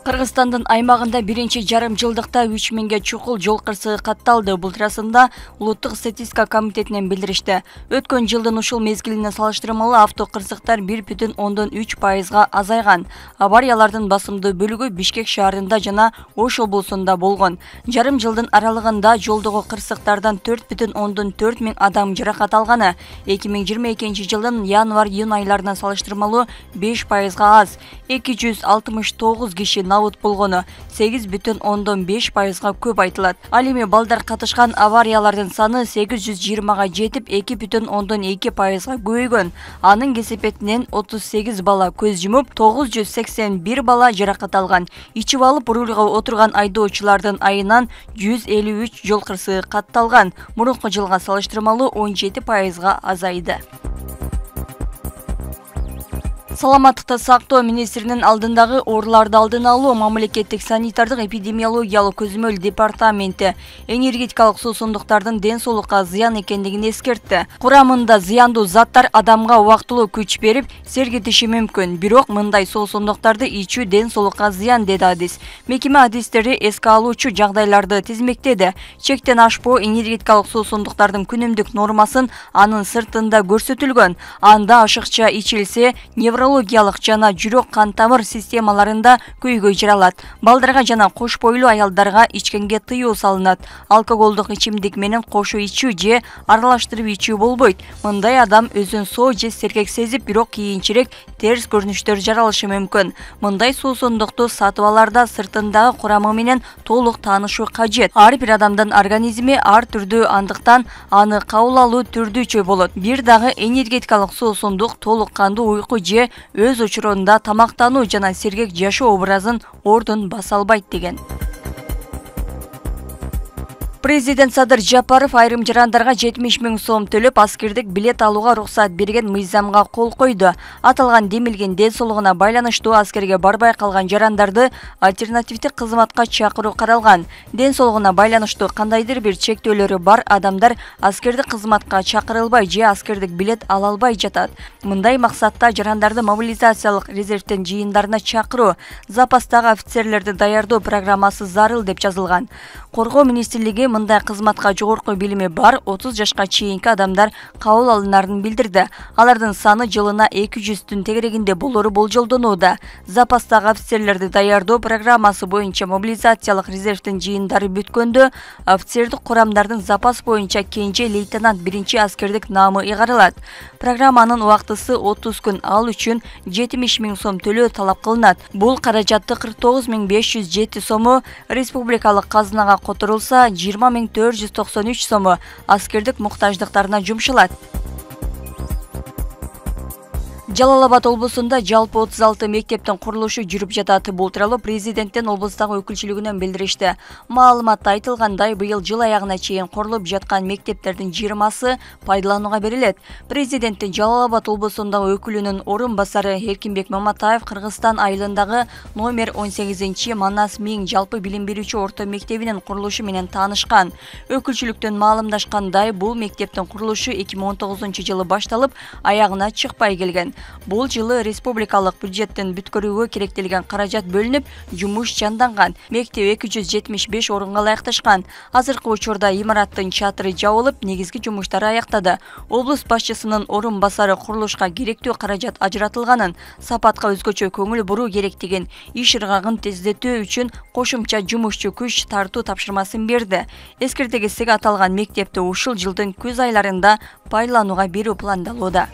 Кыргызстандын аймагында биринчи жарым жылдыкта 3000ге чукул жол кырсыгы катталды. Бул туурасында Улуттук статистика комитетинен билдиришти. Өткөн жылдын ушул мезгилине салыштырмалуу авто кырсыктар 1,3% азайган. Авариялардын басымдуу бөлүгү Бишкек шаарында жана Ош облусунда болгон. Жарым жылдын аралыгында жолдогу кырсыктардан 4,4 миң адам жаракат алганы. 2022 жылдын январь-июнь айларына салыштырмалуу 5% аз. 269 киши набут болгону 8,5%га көп айтылат. Ал эми балдар катышкан авариялардын саны 820га жетип 2,2%га көбөйгөн. Анын кесепетинен 38 бала көз жумуп, 981 бала жаракат алган. Ичип алып рулга отурган айдоочулардын айынан 153 жол кырсыгы катталган. Мурунку жылга салыштырмалуу 17%га азайды. Саламаттыкты сактоо министринин алдындагы ооруларды алдын алуу мамлекеттик санитардык эпидемиологиялык көзөмөл департаменти энергетикалык суусундуктардын ден соолукка зыян экендигин эскертти. Курамында зыяндуу заттар адамга убактылуу күч берип, сергитиши мүмкүн. Бирок мындай суусундуктарды ичүү ден соолукка зыян, деди адис. Мекеме адистери эске алуучу жагдайларды тизмектеди. Чектен ашпоо энергетикалык суусундуктардын күнүмдүк нормасын анын сыртында көрсөтүлгөн. Анда ашыкча ичилсе, неврологиялык жана жүрөк кан тамыр системаларында көйгөй жаралат. Балдарга жана кош бойлуу аялдарга ичкенге тыюу салынат. Алкоголдук ичимдик менен кошо ичүү же аралаштырып ичүү болбойт. Мындай адам өзүн соо же сергек сезип, бирок кийинчерээк терс көрүнүштөр жаралышы мүмкүн. Мындай суусундукту сатып аларда сыртындагы курамы менен толук таанышуу кажет. Ар бир адамдын организми ар түрдүү, андыктан аны кабыл алуу түрдүүчө болот. Бир дагы энергетикалык суусундук толук кандуу уйку же өз учурунда тамактануу жана сергек жашоо образын ордун баса албайт деген. Президент Садыр Жапаров айрым жарандарга 70 миң сом төлөп аскердик билет алууга уруксат берген мыйзамга кол койду. Аталган демилген ден соолугуна байланыштуу аскерге барбай калган жарандарды альтернативдик кызматка чакыруу каралган. Ден соолугуна байланыштуу кандайдыр бир чектөөлөрү бар адамдар аскердик кызматка чакырылбай же аскердик билет ала албай жатат. Мындай максатта жарандарды мобилизациялык резервден жыйындарына чакыруу, запастагы офицерлерди даярдоо программасы зарыл деп жазылган. Коргоо министрлиги мындай кызматка жогорку билими бар 30 жашка чейинки адамдар кабыл алынарын билдирди. Алардын саны жылына 200-түн тегерегинде болору болжолдонууда. Запастагы офицерлерди даярдоо программасы боюнча мобилизациялык резервдин жыйындары бүткөндө офицердик курамдардын запас боюнча кенже лейтенант биринчи аскердик наамы ыйгарылат. Программанын убактысы 30 күн, ал үчүн 70 миң сом төлөө талап кылынат. Бул каражатты 49.507 сому республикалык казынага которулса, 20.493 сому аскердик муктаждыктарына жумшалат. Жалал-Абад облусунда жалпы 36 мектептин курулушу жүрүп жатат. Бул тууралуу президенттин облустагы өкүлчүлүгүнөн билдиришти. Маалыматта айтылгандай, быйыл жыл аягына чейин курулуп жаткан мектептердин 20сы пайдаланууга берилет. Президенттин Жалал-Абад облусундагы өкүлүнүн орун басары Эркинбек Маматаев Кыргызстан айылындагы номер 18 Манас Миң жалпы билим берүүчү орто мектебинин курулушу менен таанышкан. Өкүлчүлүктөн маалымдашкандай, бул мектептин курулушу 2019 жылы башталып, аягына чыкпай келген. Бул жылы республикалык бюджеттин бүткөрүүгө керектелген каражат бөлүнүп, жумуш жанданган. Мектеп 275 орунга ылайыкташкан. Азыркы учурда имараттын чатыры жабылып, негизги жумуштары аяктады. Облус башчысынын орун басары курулушка керектүү каражат ажыратылганын, сапатка өзгөчө көңүл буруу керектигин, иш ыргагын тездетүү үчүн кошумча жумушчу күч тартуу тапшырмасын берди. Эскерте кетсек, аталган мектепти ушул жылдын күз айларында пайдаланууга берүү пландалууда.